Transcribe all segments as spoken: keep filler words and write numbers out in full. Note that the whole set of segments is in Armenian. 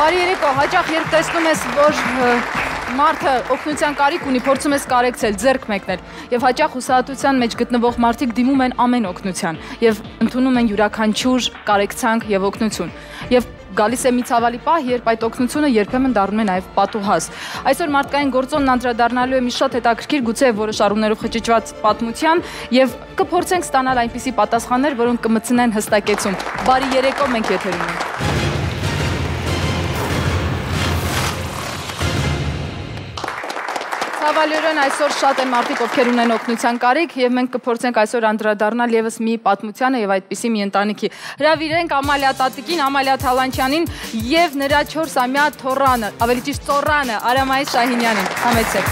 Բարի երեկո, հաճախ երբ տեսնում ես, որ մարդը օգնության կարիք ունի, փորձում ես կարեկցել, ձեռք մեկնել, եւ հաճախ հուսահատության մեջ գտնվող մարդիկ դիմում են ամեն օգնության եւ ընդունում են յուրաքանչյուր կարեկցանք եւ օգնություն։ Եվ գալիս է մի ցավալի պահ, երբ այդ օգնությունը երբեմն դառնում է նաեւ պատուհաս։ Այսօր մարդկային գործոնն անդրադառնալու է մի շատ հետաքրքիր, գուցե որոշ առումներով խճճված պատմության եւ կփորձենք ստանալ այնպիսի պատասխաններ, որոնք կմտցնեն հստակեցում։ Բարի երեկո, մենք եթերում ենք։ Ցավալիորեն այսօր շատ են մարդիկ, ովքեր ունեն օգնության կարիք, եւ մենք կփորձենք այսօր անդրադառնալ եւս մի պատմությանը եւ այդպիսի մի ընտանիքի։ Հրավիրենք Ամալիա տատիկին, Ամալիա Թալանչյանին եւ նրա չորսամյա թոռանը, ավելի ճիշտ ծոռանը, Արամայիս Շահինյանին։ Համեցեք։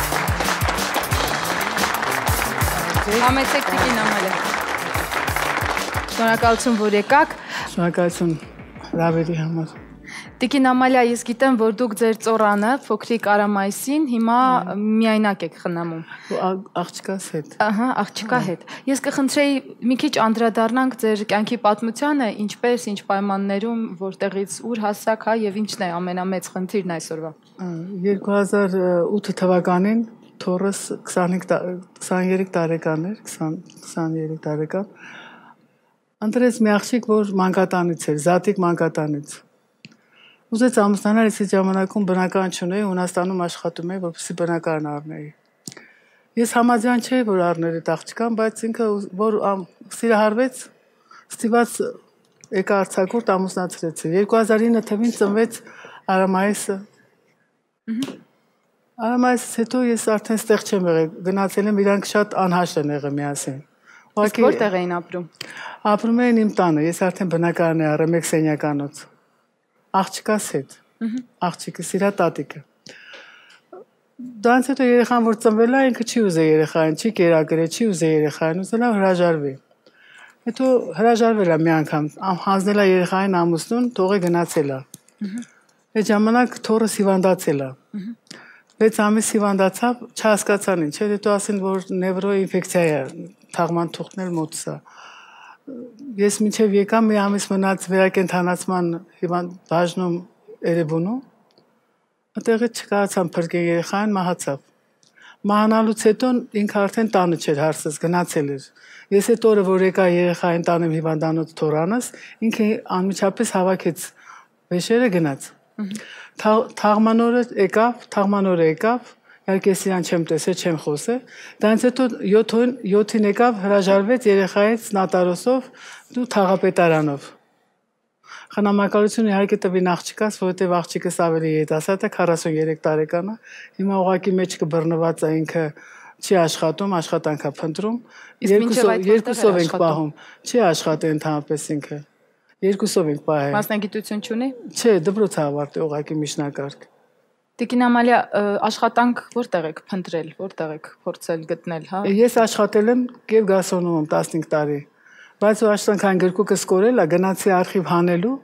Համեցեք տիկին Ամալիա։ Շնորհակալություն, որ եկաք։ Շնորհակալություն Ռավերի համար։ Տիկին Ամալիա, ես գիտեմ, որ դուք ձեր ծոռանը, փոքրիկ Արամայիսին, հիմա միայնակ եք խնամում։ Աղջկաս հետ։ Ահա, աղջկա հետ։ Ես կխնդրեի մի քիչ անդրադառնանք ձեր կյանքի պատմությանը, ինչպես, ինչ պայմաններում, որտեղից ուր հասաք, հա, եւ ինչն է ամենամեծ խնդիրն այսօրվա։ երկու հազար ութ թվականին թոռս քսաներեք տարեկան էր, քսաներեք տարեկան։ Ընտրեց մի աղջիկ, որ մանկատանից էր, Զատիկ մանկատանից։ Ուզեց ամուսնանալ, ես այդ ժամանակում բնական չունեի, Հունաստանում աշխատում էի, որպեսզի բնակարան առնեի։ Ես համաձայն չէի, որ առներ այդ աղջկան, բայց ինքը որ սիրահարվեց, ստիպված եկա արձակուրդ ամուսնացրեցի։ երկու հազար ինը թվականին ծնվեց Արամայիսը։ Արամայիսից հետո ես արդեն ստեղ չեմ եղել, գնացել եմ, իրանք շատ անհաշտ են եղել միասին։ Իսկ որտեղ էին ապրում։ Ապրում էին իմ տանը, ես արդեն բնակարան էի առել մեկ սենյականոց։ Աղջկաս հետ, աղջիկը, սիրա տատիկը։ Դրանից հետո երեխան, որ ծնվել է, ինքը չի ուզել երեխային, չի կերակրել, չի ուզել երեխային, ուզել է հրաժարվի։ Հետո հրաժարվել է մի անգամ, հանձնել է երեխային ամուսնուն, թողե գնացել է։ Այդ ժամանակ թոռս հիվանդացել է։ վեց ամիս հիվանդացավ, չհասկացան ինչ, հետո ասին, որ նևրոինֆեկցիա է, թաղման թուղթն էլ մոտս է։ Ես մինչև եկամ մի ամիս մնաց վերակենդանացման բաժնում Էրեբունու, այդտեղից չկարողացան փրկել երեխային, մահացավ։ Մահանալուց հետո ինքը արդեն տանը չէր հարցս, գնացել էր։ Ես այդ օրը, որ եկա երեխային տանեմ հիվանդանոց թոռանս, ինքը անմիջապես հավաքեց վեշերը գնաց։ Թաղման օրը եկավ, թաղման օրը եկավ, իհարկե ես իրան չեմ տեսել, չեմ խոսել, դրանից հետո յոթին եկավ, հրաժարվեց երեխայից նատարոսով ու թաղապետարանով։ Խնամակալություն իհարկե տվին աղջկաս, որովհետև աղջիկս ավելի երիտասարդ է, քառասուններեք տարեկան է, հիմա ուղղակի մեջքը բռնված է, ինքը չի աշխատում, աշխատանք է փնտրում, երկուսով ենք պահում, չի աշխատել ընդհանրապես ինքը, երկուսով ենք պահել։ Մասնագիտություն չունի։ Չէ, դպրոց է ավարտել, ուղղակի միջնակարգ։ Տիկին Ամալիա, աշխատանք որտեղ եք փնտրել, որտեղ եք փորձել գտնել, հա։ Ես աշխատել եմ Կիև գաստրոնոմում տասնհինգ տարի, բայց ու աշխատանքային գրքուկս կորել է, գնացի արխիվ հանելու,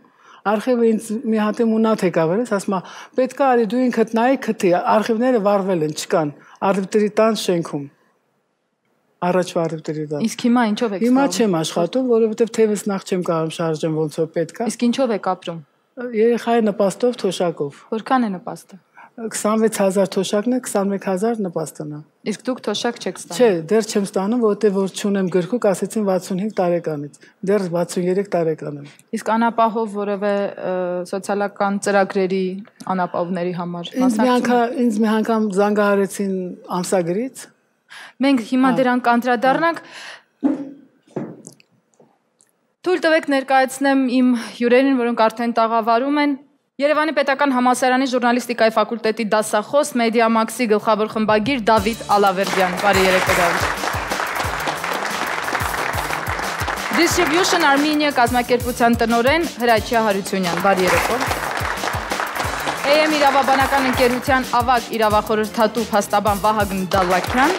արխիվը ինձ մի հատ մունատ եկավ, ասում է, պետք է արի դու ինքդ նայի քթի, արխիվները վառվել են, չկան, արխիվների տան շենքում։ Առաջվա արխիվների տան։ Իսկ հիմա ինչով եք Հիմա չեմ աշխատում, որովհետև թևս նախ չեմ կարող շարժեմ ոնց որ պետք է։ Իսկ ինչով եք ապրում։ Երեխայի նպաստով, թոշակով։ Որքան է նպաստը։ քսանվեց հազար թոշակն է, քսանմեկ հազար նպաստն է։ Իսկ դուք թոշակ չեք ստանում։ Չէ, դեռ չեմ ստանում, որովհետև որ չունեմ գրքուկ, ասեցին վաթսունհինգ տարեկանից։ Դեռ վաթսուներեք տարեկան եմ։ Իսկ անապահով որևէ սոցիալական ծրագրերի անապահովների համար մասնակցում։ Ինձ մի անգամ զանգահարեցին ամսագրից։ Մենք հիմա դրանք անդրադառնանք։ Թույլ տվեք ներկայացնեմ իմ հյուրերին, որոնք արդեն տաղավարում են։ Երևանի պետական համալսարանի ժուրնալիստիկայի ֆակուլտետի դասախոս Մեդիամաքսի գլխավոր խմբագիր Դավիթ Ալավերդյան։ Բարի երեկո Դավիթ։ Distribution Armenia կազմակերպության տնօրեն Հրաչյա Հարությունյան։ Բարի երեկո։ A M իրավաբանական ընկերության ավագ իրավախորհրդատու փաստաբան Վահագն Դալլաքյան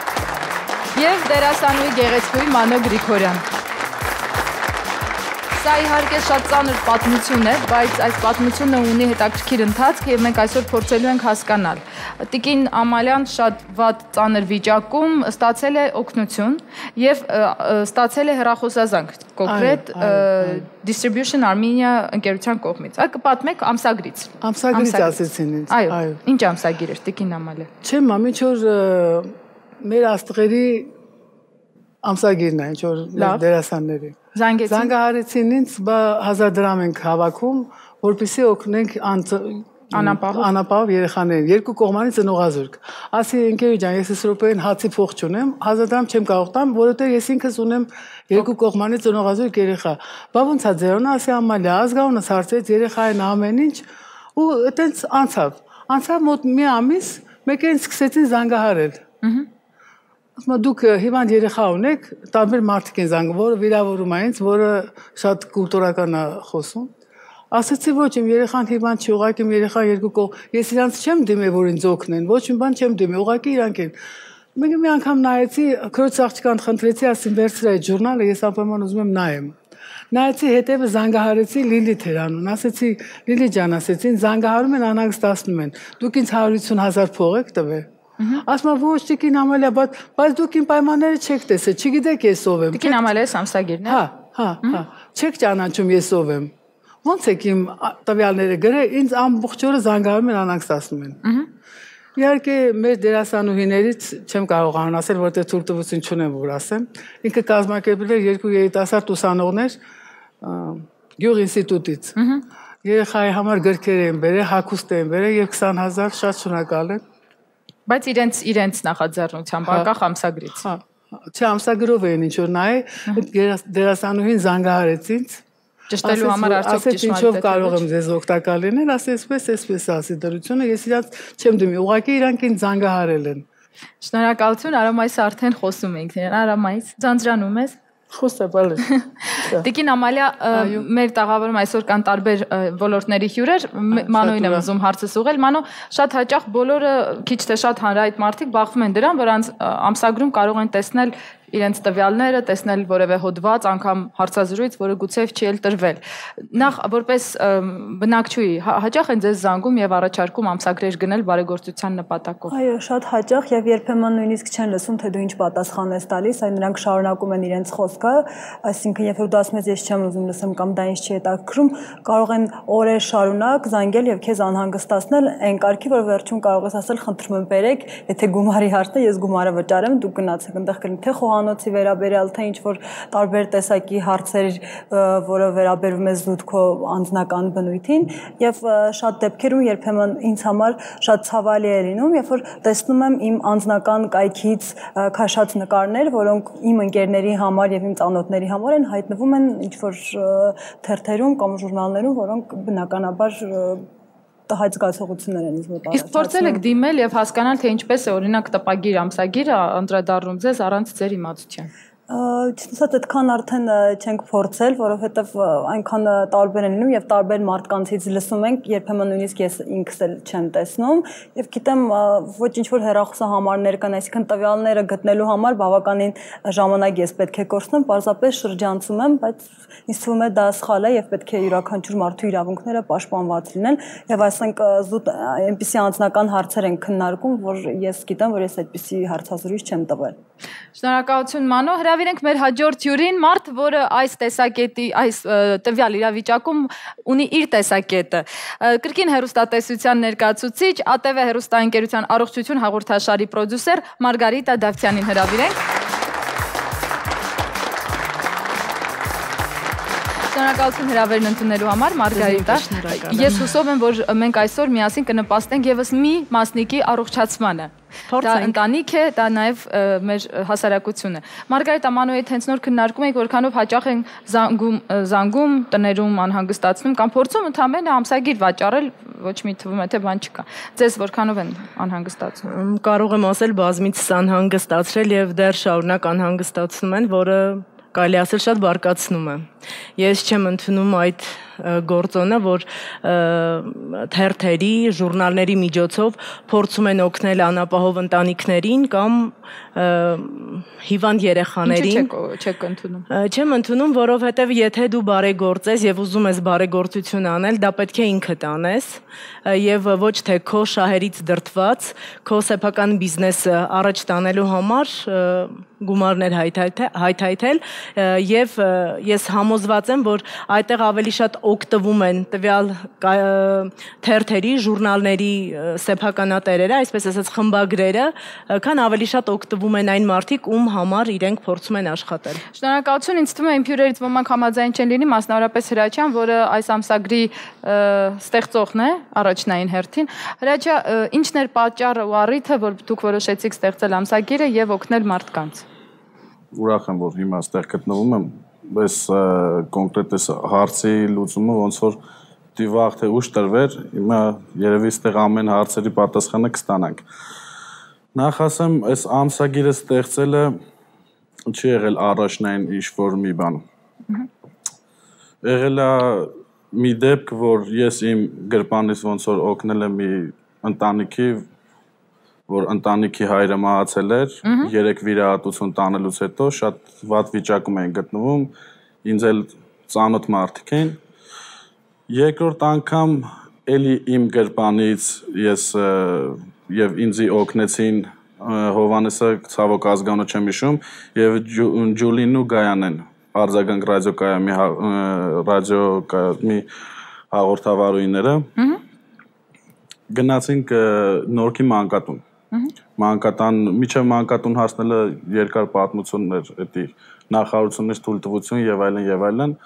եւ դերասանուհի գեղեցկուհի Մանո Գրիգորյան։ Սա իհարկե շատ ծանր պատմություն է, բայց այս պատմությունը ունի հետաքրքիր ընթացք եւ մենք այսօր փորձելու ենք հասկանալ։ Տիկին Ամալյան շատ վատ ծանր վիճակում ստացել է օգնություն եւ ստացել է հեռախոսազանգ, կոնկրետ Distribution Armenia ընկերության կողմից։ Այ կպատմեք ամսագրից։ Ամսագրից ասեցին ինձ։ Այո։ Ինչ ամսագիր էր Տիկին Ամալյան։ Չեմ, մամի, որ մեր աստղերի ամսագիրն է, ինչ որ դերասանների։ Զանգեցին։ Զանգահարեցին ինձ, բա հազար դրամ ենք հավաքում, որպեսզի օգնենք անապահով երեխաներին, երկու կողմանի ծնողազուրկ։ Ասի ընկերուհի ջան, ես այս րոպեին հացի փող չունեմ, հազար դրամ չեմ կարող տամ, որովհետև ես ինքս ունեմ երկու կողմանի ծնողազուրկ երեխա։ Բա ոնց է ձերոնը, ասի Ամալիա, ազգանունս հարցրեց երեխային ամեն ինչ ու այտենց անցավ։ Անցավ մոտ մի ամիս, մեկերին սկսեցին զանգահարել։ Ասում դուք հիվանդ երեխա ունեք, տարբեր մարդիկ են զանգում, որը վիրավորում է ինձ, որը շատ կուլտուրական է խոսում։ Ասացի ոչ, իմ երեխան հիվանդ չի, ուղղակի իմ երեխան երկու կողմ, ես իրանց չեմ դիմել, որ ինձ օգնեն, ոչ մի բան չեմ դիմել, ուղղակի իրանք են։ Մենք մի անգամ նայեցի, քրոջ աղջկան խնդրեցի, ասին վերցրի այդ ժուրնալը, ես անպայման ուզում եմ նայեմ։ Նայեցի հետևը զանգահարեցի Լիլիթ էր անուն, ասեցի Լիլի ջան, ասեցին զանգահարում են անհանգստացնում են, դուք ինձ հարյուր ութսուն հազար փող եք տվել։ Ասում ոչ Տիկին Ամալիա, բայց դուք իմ պայմանները չեք տեսել, չգիտեք ես ով եմ։ Տիկին Ամալիա ամսագիրն է։ Հա, հա, հա։ Չեք ճանաչում ես ով եմ։ Ոնց եք իմ տվյալները գրել, ինձ ամբողջ օրը զանգահարում են անհանգստացնում են։ Իհարկե մեր դերասանուհիներից չեմ կարողանում ասել, որտեղ թույլտվություն չունեմ որ ասեմ։ Ինքը կազմակերպել էր երկու երիտասարդ ուսանողներ Գյուղ ինստիտուտից։ Երեխայի համար գրքեր են բերել, հագուստ են բերել եւ քսան հազար շատ շնորհակալ եմ։ Բայց իրենց իրենց նախաձեռնությամբ, անկախ ամսագրից։ Հա, չէ, ամսագրով էին ինչ որ նայ, դերասանուհին զանգահարեց ինձ։ Ճշտելու համար արդյոք ճշմարիտ է։ Ինչով կարող եմ ձեզ օգտակար լինել, ասի այսպես, այսպես ասի դրությունը, ես իրանց չեմ դիմի, ուղղակի իրանք ինձ զանգահարել են։ Շնորհակալություն, Արամայից արդեն խոսում ենք, Արամայից ձանձրանում ես։ Խոսա բալը։ Տիկին Ամալիա, մեր տաղավարում այսօր կան տարբեր ոլորտների հյուրեր, Մանոյին եմ ուզում հարցս ուղղել։ Մանո, շատ հաճախ բոլորը քիչ թե շատ հանրայիտ մարդիկ բախվում են դրան, որ ամսագրում կարող են տեսնել իրենց տվյալները, տեսնել որևէ հոդված, անգամ հարցազրույց, որը գուցե չի էլ տրվել։ Նախ որպես բնակչուհի հաճախ են ձեզ զանգում եւ առաջարկում ամսագրեր գնել բարեգործության նպատակով։ Այո, շատ հաճախ եւ երբեմն նույնիսկ չեն լսում, թե դու ինչ պատասխան ես տալիս, այլ նրանք շարունակում են իրենց խոսքը, այսինքն երբ որ դու ասում ես ես չեմ ուզում լսեմ կամ դա ինձ չի հետաքրքրում, կարող են օրեր շարունակ զանգել եւ քեզ անհանգստացնել այն կարգի, որ վերջում կարող ես ասել խնդրում եմ բերեք, եթե գումարի հարցն է, ես գումարը վճարեմ, դուք գնացեք, այնտեղ կլինի թե խոհանոցի վերաբերյալ, թե ինչ որ տարբեր տեսակի հարցեր, որը վերաբերվում է զուտ քո անձնական բնույթին եւ շատ դեպքերում երբեմն ինձ համար շատ ցավալի է լինում, երբ որ տեսնում եմ իմ անձնական կայքից քաշած նկարներ, որոնք իմ ընկերների համար եւ իմ ծանոթների համար են հայտնվում են ինչ որ թերթերում կամ ժուրնալներում, որոնք բնականաբար տհաճ զգացողություններ են ինձ մոտ առաջացնում։ Իսկ փորձել եք դիմել եւ հասկանալ, թե ինչպես է օրինակ տպագիր ամսագիրը անդրադառնում ձեզ առանց ձեր իմացության։ Չնայած այդքան արդեն չենք փորձել, որովհետև այնքան տարբեր են լինում եւ տարբեր մարդկանցից լսում ենք, երբեմն նույնիսկ ես ինքս էլ չեմ տեսնում եւ գիտեմ ոչ ինչ որ հեռախոսահամարներ կան, այսինքն տվյալները գտնելու համար բավականին ժամանակ ես պետք է կորցնեմ, պարզապես շրջանցում եմ, բայց ինձ թվում է դա սխալ է եւ պետք է յուրաքանչյուր մարդու իրավունքները պաշտպանված լինեն եւ այսինք զուտ այնպիսի անձնական հարցեր են քննարկում, որ ես գիտեմ, որ ես այդպիսի հարցազրույց չեմ տվել։ Շնորհակալություն Մանո, հրավիրենք մեր հաջորդ հյուրին, մարդ, որը այս տեսակետի, այս տվյալ իրավիճակում ունի իր տեսակետը։ Կրկին հեռուստատեսության ներկայացուցիչ, ԱՏՎ հեռուստաընկերության առողջություն հաղորդաշարի պրոդյուսեր Մարգարիտա Դավթյանին հրավիրենք։ Շնորհակալություն հրավերն ընդունելու համար, Մարգարիտա։ Ես հուսով եմ, որ մենք այսօր միասին կնպաստենք եւս մի մասնիկի առողջացմանը։ Դա ընտանիք է, դա նաև մեր հասարակությունը։ Մարգարիտա, Մանոյի հետ հենց նոր քննարկում ենք, որքանով հաճախ են զանգում, զանգում, տներում անհանգստացնում կամ փորձում ընդամենը ամսագիր վաճառել, ոչ մի թվում է թե բան չկա։ Ձեզ որքանով են անհանգստացնում։ Կարող եմ ասել բազմիցս անհանգստացրել եւ դեռ շարունակ անհանգստացնում են, որը կարելի ասել շատ բարկացնում է։ Ես չեմ ընդունում այդ գործոնը, որ թերթերի, ժուրնալների միջոցով փորձում են օգնել անապահով ընտանիքներին կամ հիվանդ երեխաներին։ Ինչու չեք ընդունում։ Չեմ ընդունում, որովհետև եթե դու բարեգործ ես եւ ուզում ես բարեգործություն անել, դա պետք է ինքդ անես եւ ոչ թե քո շահերից դրդված, քո սեփական բիզնեսը առաջ տանելու համար գումարներ հայթայթել եւ ես համոզված եմ, որ այդտեղ ավելի շատ օգտվում են տվյալ թերթերի, ժուրնալների սեփականատերերը, այսպես ասած խմբագրերը, քան ավելի շատ օգտվում են այն մարդիկ, ում համար իրենք փորձում են աշխատել։ Շնորհակալություն, ինձ թվում է իմ հյուրերից ոմանք համաձայն չեն լինի, մասնավորապես Հրաչյան, որը այս ամսագրի ստեղծողն է, առաջնային հերթին։ Հրաչյա, ի՞նչն էր պատճառը ու առիթը, որ դուք որոշեցիք ստեղծել ամսագիրը եւ օգնել մարդկանց։ Ուրախ եմ, որ հիմա այստեղ գտնվում եմ, բայց կոնկրետ այս հարցի լուծումը ոնց որ դիվաղ թե ուշ տրվեր, հիմա երևի այստեղ ամեն հարցերի պատասխանը կստանանք։ Նախ ասեմ, այս ամսագիրը ստեղծելը չի եղել առաջնային ինչ-որ մի բան։ Եղել է մի դեպք, որ ես իմ գրպանից ոնց որ օգնել եմ մի ընտանիքի, որ ընտանիքի հայրը մահացել էր, երեք վիրահատություն տանելուց հետո շատ վատ վիճակում էին գտնվում, ինձ էլ ծանոթ մարդիկ էին։ Երկրորդ անգամ էլի իմ գրպանից ես եւ ինձի օգնեցին Հովանեսը, ցավոք ազգանունը չեմ հիշում, եւ Ջուլին ու Գայանեն, արձագանք ռադիոկայանի ռադիոկայանի հաղորդավարուները։ Գնացինք Նորքի մանկատուն։ Մանկատան, միջև մանկատուն հասնելը երկար պատմությունն էր, էդի նախարարությունից թույլտվություն եւ այլն եւ այլն։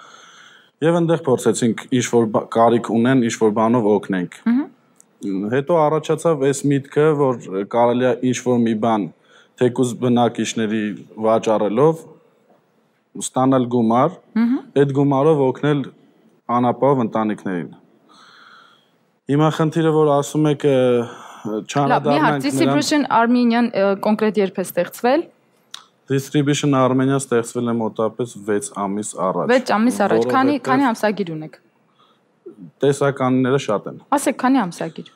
Եվ այնտեղ փորձեցինք ինչ-որ կարիք ունեն, ինչ-որ բանով օգնենք։ Հետո առաջացավ այս միտքը, որ կարելի է ինչ-որ մի բան թեկուզ բնակիչների վաճառելով ստանալ գումար, այդ գումարով օգնել անապահով ընտանիքներին։ Հիմա խնդիրը, որ ասում եք Չանադառնանք Distribution Armenian կոնկրետ երբ է ստեղծվել։ Distribution Armenian ստեղծվել է մոտավորապես վեց ամիս առաջ։ վեց ամիս առաջ, քանի քանի ամսագիր ունեք։ Տեսականները շատ են։ Ասեք, քանի ամսագիր։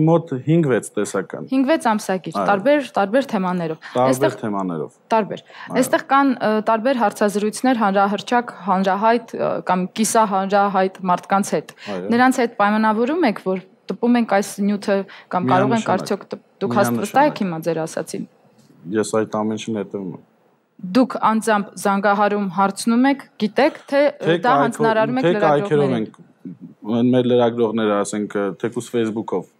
Մոտ հինգ-վեց տեսական։ հինգ-վեց ամսագիր, տարբեր տարբեր թեմաներով։ Տարբեր թեմաներով։ Տարբեր։ Այստեղ կան տարբեր հարցազրույցներ հանրահրճակ, հանրահայտ կամ կիսահանրահայտ մարդկանց հետ։ Նրանց հետ պայմանավորում եք, որ տպում ենք այս նյութը կամ կարող ենք արդյոք դուք հաստատակ եք հիմա ձեր ասացին։ Ես այդ ամեն ինչին հետևում եմ։ Դուք անձամբ զանգահարում հարցնում եք, գիտեք, թե դա հանձնարարում եք լրագրողներին։ Մեր լրագրողները, ասենք, թեկուզ Facebook-ով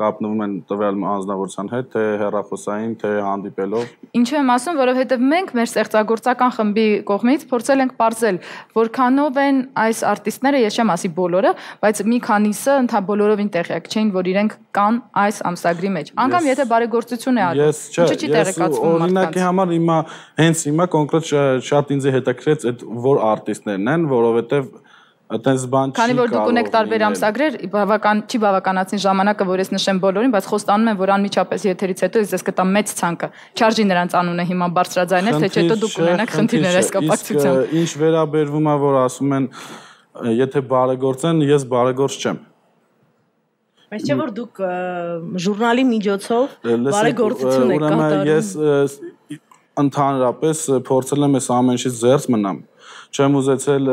կապնվում են տվյալ անձնավորության հետ, թե հեռախոսային, թե հանդիպելով։ Ինչու եմ ասում, որովհետև մենք մեր ստեղծագործական խմբի կողմից փորձել ենք պարզել, որքանով են այս արտիստները, ես չեմ ասի բոլորը, բայց մի քանիսը ընդհանուր բոլորովին տեղյակ չէին, որ իրենք կան այս ամսագրի մեջ։ Անգամ եթե բարեգործություն է անում, ինչու՞ չի տեղեկացվում մարդկանց։ Օրինակի համար հիմա հենց հիմա կոնկրետ շատ ինձ հետաքրքրեց այդ որ արտիստներն են, որովհետև այդպես բան չի կարող։ Քանի որ դուք ունեք տարբեր ամսագրեր, բավական չի բավականացնի ժամանակը, որ ես նշեմ բոլորին, բայց խոստանում եմ, որ անմիջապես եթերից հետո ես կտամ մեծ ցանկը։ Չարժի նրանց անունը հիմա բարձրաձայնել, թե չէ դուք ունենաք խնդիրներ այս կապակցությամբ։ Ինչ վերաբերվում է, որ ասում են, եթե բարեգործեն, ես բարեգործ չեմ։ Բայց չէ որ դուք ժուրնալի միջոցով բարեգործություն եք կատարում։ Ես ընդհանրապես փորձել եմ այս ամեն ինչից զերծ մնամ։ Չեմ ուզեցել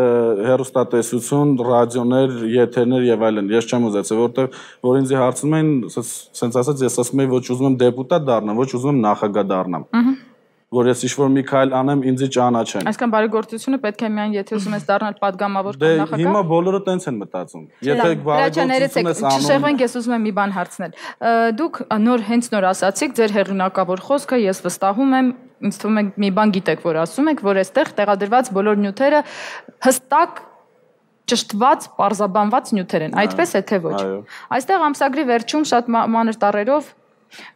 հեռուստատեսություն, ռադիոներ, եթերներ եւ այլն։ Ես չեմ ուզեցել, որտեղ որ ինձ հարցնում են, ասենց ասած, ես ասում եմ, ոչ ուզում եմ դեպուտատ դառնամ, ոչ ուզում եմ նախագահ դառնամ։ Որ ես ինչ-որ մի քայլ անեմ, ինձ ճանաչեն։ Այսինքն բարեգործությունը պետք է միայն եթե ուզում ես դառնալ падգամավոր կամ նախագահ։ Դե հիմա բոլորը տենց են մտածում։ Եթե բարեգործություն ես անում, չշեղվենք, ես ուզում եմ մի բան հարցնել։ Դուք նոր հենց նոր ասացիք ձեր հեղինակավոր խոսքը, ես վստահում եմ, ինձ թվում է մի բան գիտեք, որ ասում եք, որ այստեղ տեղադրված բոլոր նյութերը հստակ ճշտված, պարզաբանված նյութեր են։ Այդպես է թե ոչ։ Այստեղ ամսագրի վերջում շատ մանր տառերով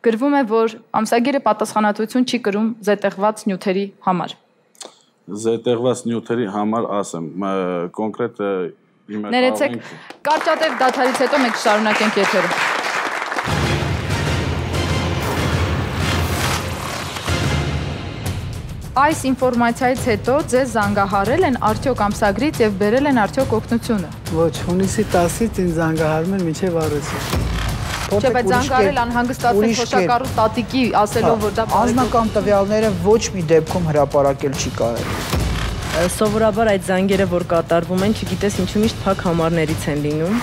գրվում է, որ ամսագիրը պատասխանատվություն չի կրում զետեղված նյութերի համար։ Զետեղված նյութերի համար ասեմ, կոնկրետ իմը ներեցեք, կարճատև դադարից հետո մենք շարունակենք եթերը։ Այս ինֆորմացիայից հետո ձեզ զանգահարել են արդյոք ամսագրից եւ բերել են արդյոք օգնությունը։ Ոչ, հունիսի տասից ինձ զանգահարում են մինչև առեսը։ Չէ, բայց զանգահարել անհանգստացել թոշակառու տատիկի ասելով, որ դա անձնական տվյալները ոչ մի դեպքում հրապարակել չի կարելի։ Սովորաբար այդ զանգերը, որ կատարվում են, չգիտես ինչու միշտ փակ համարներից են լինում։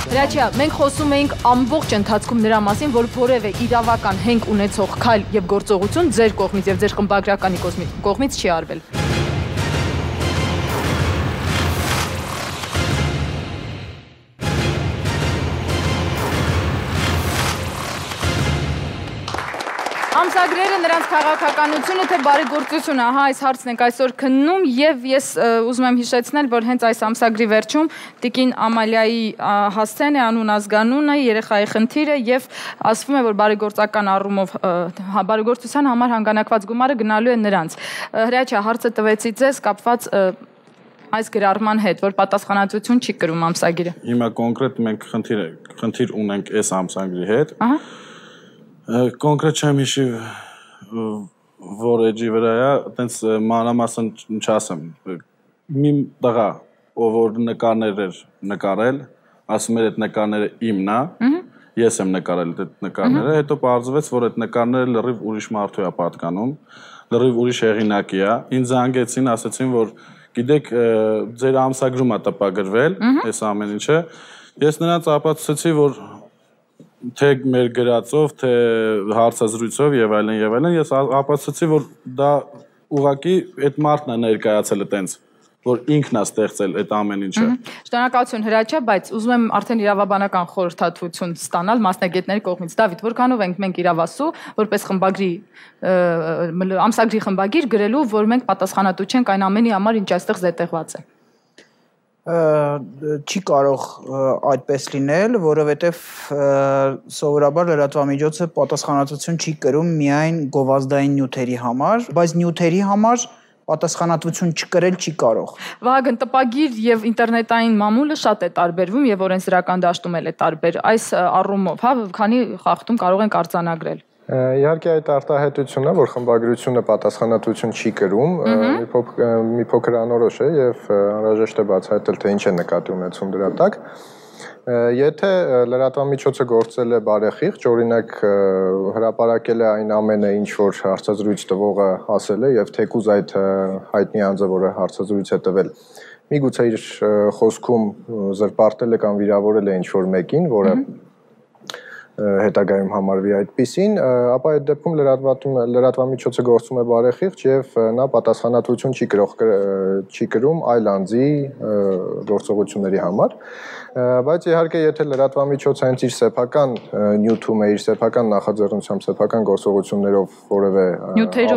Հրաչյա, մենք խոսում էինք ամբողջ ընթացքում նրա մասին, որ որևէ իրավական հենք ունեցող քայլ եւ գործողություն ձեր կողմից եւ ձեր խմբագրականի կողմից չի արվել։ Ամսագրերը, նրանց քաղաքականությունը, թե բարեգործությունը, ահա այս հարցն ենք այսօր քննում եւ ես ուզում եմ հիշեցնել, որ հենց այս ամսագրի վերջում տիկին Ամալիայի հասցեն է, անուն ազգանունը, երեխայի խնդիրը եւ ասվում է, որ բարեգործական առումով բարեգործության համար հանգանակված գումարը գնալու է նրանց։ Հրաչյա, հարցը տվեցի ձեզ կապված այս գրառման հետ, որ պատասխանատվություն չի կրում ամսագիրը։ Հիմա կոնկրետ մենք խնդիր խնդիր ունենք այս ամսագրի հետ։ Ահա Կոնկրետ չեմ հիշի որ էջի վրա է, այտենց մանրամասն չասեմ։ Մի տղա, ով որ նկարներ էր նկարել, ասում էր այդ նկարները իմն է, ես եմ նկարել այդ նկարները, հետո պարզվեց, որ այդ նկարները լրիվ ուրիշ մարդու է պատկանում, լրիվ ուրիշ հեղինակի է։ Ինձ զանգեցին, ասացին, որ գիտեք, ձեր ամսագրում է տպագրվել, այս ամեն ինչը։ Ես նրանց ապացուցեցի, որ թե մեր գրածով, թե հարցազրույցով եւ այլն եւ այլն, ես ապացուցեցի, որ դա ուղղակի այդ մարդն է ներկայացել այտենց, որ ինքն է ստեղծել այդ ամեն ինչը։ Շնորհակալություն Հրաչյա, բայց ուզում եմ արդեն իրավաբանական խորհրդատվություն ստանալ մասնագետների կողմից։ Դավիթ, որքանով ենք մենք իրավասու, որպես խմբագրի ամսագրի խմբագիր գրելու, որ մենք պատասխանատու չենք այն ամենի համար, ինչ այստեղ զետեղված է։ Չի կարող այդպես լինել, որովհետև սովորաբար լրատվամիջոցը պատասխանատվություն չի կրում միայն գովազդային նյութերի համար, բայց նյութերի համար պատասխանատվություն չկրել չի կարող։ Վահագն, տպագիր եւ ինտերնետային մամուլը շատ է տարբերվում եւ օրենսդրական դաշտում էլ է տարբեր։ Այս առումով, հա, քանի խախտում կարող ենք արձանագրել։ Իհարկե այդ արտահայտությունն է, որ խմբագրությունը պատասխանատվություն չի կրում, մի փոքր անորոշ է եւ անհրաժեշտ է բացահայտել, թե ինչ է նկատի ունեցում դրա տակ։ Եթե լրատվամիջոցը գործել է բարեխիղճ, օրինակ հրապարակել է այն ամենը, ինչ որ հարցազրույց տվողը ասել է եւ թեկուզ այդ հայտնի անձը, որը հարցազրույց է տվել, միգուցե իր խոսքում զրպարտել է կամ վիրավորել է ինչ որ մեկին, որը հետագայում համարվի այդպիսին, ապա այդ դեպքում լրատվամիջոցը գործում է բարեխիղճ եւ նա պատասխանատվություն չի կրող չի կրում այլ անձի գործողությունների համար, բայց իհարկե եթե լրատվամիջոցը հենց իր սեփական նյութում է, իր սեփական նախաձեռնությամբ, սեփական գործողություններով որևէ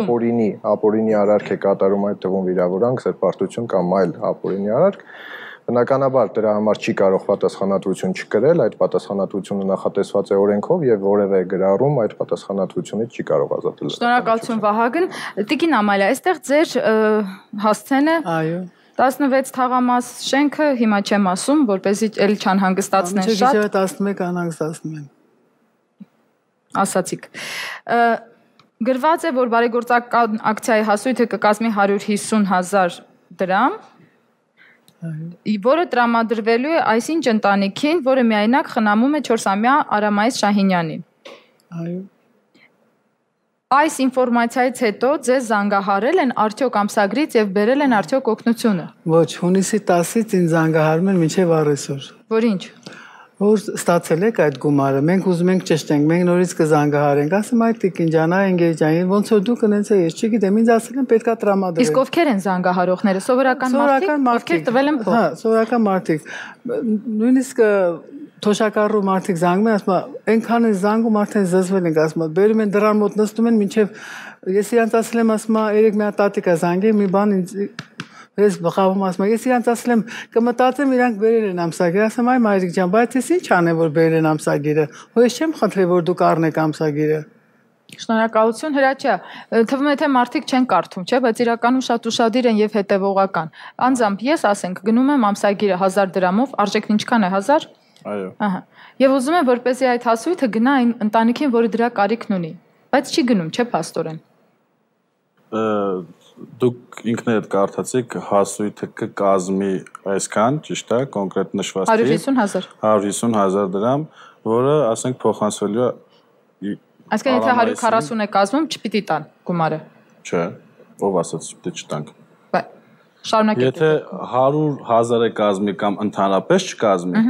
ապօրինի, ապօրինի արարք է կատարում, այդ թվում վիրավորանք, զրպարտություն կամ այլ ապօրինի արարք, բնականաբար դրա համար չի կարող պատասխանատվություն չկրել, այդ պատասխանատվությունը նախատեսված է օրենքով եւ որևէ գրառում այդ պատասխանատվությունից չի կարող ազատել։ Շնորհակալություն Վահագն։ Տիկին Ամալիա, այստեղ ձեր հասցեն է։ Այո։ տասնվեց թաղամաս շենքը, հիմա չեմ ասում, որպեսզի էլ չանհանգստացնեն շատ։ Չէ, տասնմեկ անհանգստացնում են։ Ասացիք։ Գրված է, որ բարեգործական ակցիայի հասույթը կկազմի հարյուր հիսուն հազար դրամ, որը տրամադրվելու է այսինչ ընտանիքին, որը միայնակ խնամում է չորսամյա Արամայիս Շահինյանին։ Այո։ Այս ինֆորմացիայից հետո ձեզ զանգահարել են արդյոք ամսագրից եւ բերել են արդյոք օգնությունը։ Ոչ, հունիսի տասից ինձ զանգահարում են մինչև առեսօր։ Որ ինչ։ Որ ստացել եք այդ գումարը, մենք ուզում ենք ճշտենք, մենք նորից կզանգահարենք, ասեմ այդ տիկին ջան, ընկեր ջան, ոնց որ դուք ընենց է, ես չգիտեմ, ինձ ասել են պետքա տրամադրել։ Իսկ ովքեր են զանգահարողները, սովորական մարդիկ, ովքեր տվել են փող։ Հա, սովորական մարդիկ։ Նույնիսկ թոշակառու մարդիկ զանգում են, ասում են, այնքան են զանգում, արդեն զզվել ենք, ասում են, բերում են դրան մոտ նստում են, մինչև ես իրանց ասել եմ, ասում եմ, երեք մի հատ տատիկա զանգել, մի բան ինձ ես բխավում ասում եմ, ես իրանց ասել եմ, կմտածեմ իրանք բերել են ամսագիր, ասեմ այ մայրիկ ջան, բայց ես ինչ անեմ, որ բերել են ամսագիրը, հո ես չեմ խնդրել, որ դուք առնեք ամսագիրը։ Շնորհակալություն Հրաչյա, թվում է թե մարդիկ չեն կարդում, չէ, բայց իրականում շատ ուշադիր են եւ հետեւողական։ Անձամբ ես ասենք գնում եմ ամսագիրը հազար դրամով, արժեքն ինչքան է, հազար։ Այո։ Ահա։ Եվ ուզում եմ որպեսզի այդ հասույթը գնա այն ընտանիքին, որը դրա կարիքն ունի, բայց չի գնում, չէ, փաստորեն։ դուք ինքներդ կարդացիք հասույթը կկազմի այսքան, ճիշտ է, կոնկրետ նշված հարյուր հիսուն հազար հարյուր հիսուն հազար դրամ, որը ասենք փոխանցվելու է Այսինքն եթե հարյուր քառասուն է կազմում, չպիտի տան գումարը։ Չէ, ով ասաց պիտի չտանք։ Բայց շարունակեք։ Եթե հարյուր հազար է կազմի կամ ընդհանրապես չկազմի,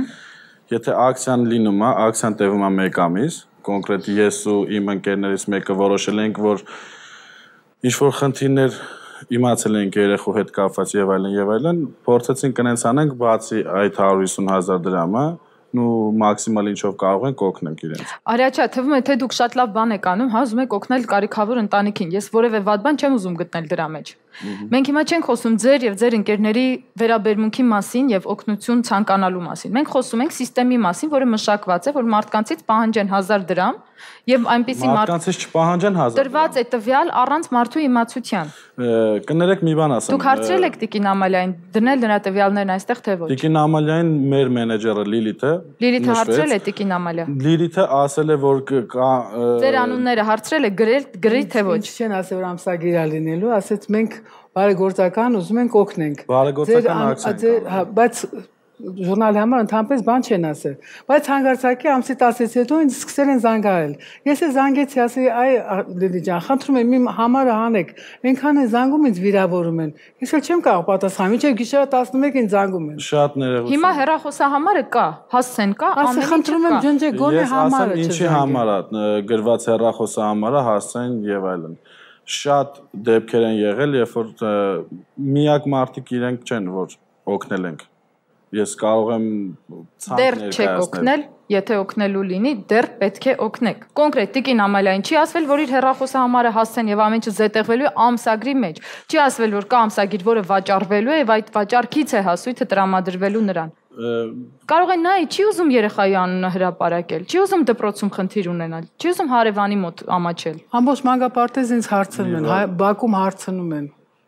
եթե ակցիան լինում է, ակցիան տևում է մեկ ամիս, կոնկրետ ես ու իմ ընկերներից մեկը որոշել ենք, որ ինչ-որ խնդիրներ իմացել ենք երեխու հետ կապված եւ այլն եւ այլն, փորձեցինք կնենց անենք բացի այդ հարյուր հիսուն հազար դրամը, ու մաքսիմալ ինչով կարող ենք օգնենք իրենց։ Արիաչա, թվում է թե դուք շատ լավ բան եք անում, հա, ուզում եք օգնել կարիքավոր ընտանիքին։ Ես որևէ վատ բան չեմ ուզում գտնել դրա մեջ։ Մենք հիմա չենք խոսում ձեր եւ ձեր ընկերների վերաբերմունքի մասին եւ օգնություն ցանկանալու մասին։ Մենք խոսում ենք համակարգի մասին, որը մշակված է, որ մարդկանցից պահանջեն հազար դրամ եւ այնպիսի մարդկանցից չպահանջեն հազար դրամ։ Տրված է տվյալ առանց մարդու իմացության։ Կներեք մի բան ասեմ։ Դուք հարցրել եք Տիկին Ամալիային, դնել նրա տվյալներն այստեղ թե ոչ։ Տիկին Ամալիային մեր մենեջերը Լիլիթը Լիլիթը հարցրել է Տիկին Ամալիա։ Լիլիթը ասել է, որ կա Ձեր անունները հարցրել է, գրել, գրի թե ոչ։ Չեն ասել, որ ամսագիր է լինելու, ասեց մենք բարեգործական ուզում ենք օգնենք։ Բարեգործական ակցիա։ Բայց ժուրնալի համար ընդհանրապես բան չեն ասել։ Բայց հանգարցակի ամսի տասից հետո ինձ սկսել են զանգարել։ Ես էլ զանգեցի, ասի, այ Լիլի ջան, խնդրում եմ իմ համարը հանեք։ Այնքան են զանգում ինձ վիրավորում են։ Ես էլ չեմ կարող պատասխանել, մինչև գիշերը տասնմեկին զանգում են։ Շատ ներողություն։ Հիմա հեռախոսահամարը կա, հասցեն կա, ամեն ինչ կա։ Խնդրում եմ ջնջեք գոնե համարը չզանգեք։ Ես ասեմ ինչի համար է գրված հեռախոսահամարը, հասցեն եւ այլն։ Շատ դեպքեր են եղել, երբ որ միակ մարդիկ իրենք չեն, որ օգնել ենք։ Ես կարող եմ ցանկ դեռ չեք օգնել, եթե օգնելու լինի, դեռ պետք է օգնեք։ Կոնկրետ Տիկին Ամալիային չի ասվել, որ իր հեռախոսահամարը հասցեն եւ ամեն ինչը զետեղվելու է ամսագրի մեջ։ Չի ասվել, որ կա ամսագիր, որը վաճառվելու է եւ այդ վաճառքից է հասույթը տրամադրվելու նրան։ Կարող է նա չի ուզում երեխայի անունը հրապարակել, չի ուզում դպրոցում խնդիր ունենալ, չի ուզում հարևանի մոտ ամաչել։ Ամբողջ մանկապարտեզ ինձ հարցնում են, Բաքում հարցնում են։